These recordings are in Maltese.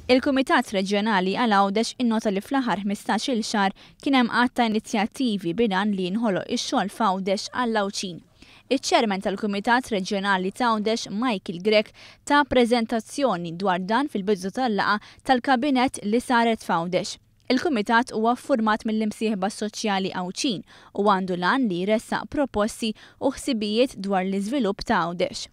Il-Kumitat Reġjonali għal Għawdex innota li fl-aħħar 15-il xahar kien hemm għadd ta' inizjattivi bil-għan li jinħoloq ix-xogħol f'Għawdex għall-Għawdxin. Iċ-Chairman tal-Kumitat Reġjonali t'Għawdex Michael Grech ta preżentazzjoni dwar dan fil-bidu tal-laqgħa tal-Kabinett li saret f'Għawdex. Il-Kumitat huwa ffurmat mill-imsieħba soċjali Għawdxin u għandu l-għan li jressaq proposti u ħsibijiet dwar l-iżvilupp ta' Għawdex.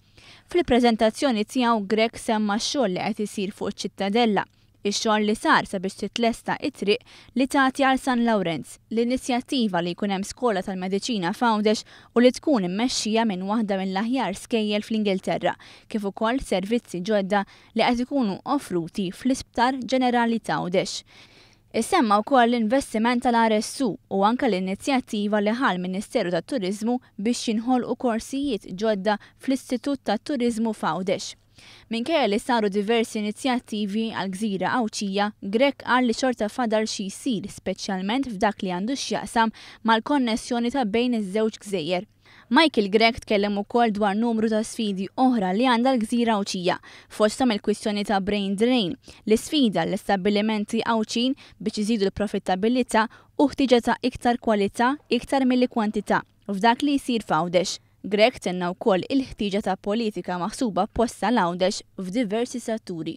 Fil-preżentazzjoni tiegħu Grech semma x-xogħol li qed isir fuq iċ-Ċittadella, ix-xogħol li sar sabiex titlesta t-triq li tagħti għal San Lawrenz, l-inizjattiva li jkun hemm skola tal-mediċina f'Għawdex u li tkun immexxija minn waħda mill-aħjar skejjel fl-Ingilterra, kif ukoll servizzi ġodda li qed ikunu offruti fl-Isptar Ġenerali t'Għawdex. Issemma wkoll l-investiment tal-RSU u anke l-inizjattiva li ħa l-Ministeru tat-Turiżmu biex jinħolqu korsijiet ġodda fl-Istitut tat-Turiżmu f'Għawdex. Minkejja li saru diversi inizjattivi għall-gżira Għawdxija, Grech qal li xorta fadal xi jsir speċjalment f'dak li għandu x'jaqsam mal-konnessjoni ta' bejn iż-żewġ gżejjer. Michael Grech tkellem ukoll dwar numru ta' sfidi oħra li għandha l-gżira Għawdxija, fosthom il-kwistjoni ta' brain drain, l-isfida għall-istabbilimenti Għawdxin biex iżidu l-profittabilità u ħtieġa ta' iktar kwalità iktar milli kwantità f'dak li jsir f'Għawdex. Grech tenna wkoll il-ħtieġa ta' politika maħsuba apposta għal Għawdex f'diversi setturi.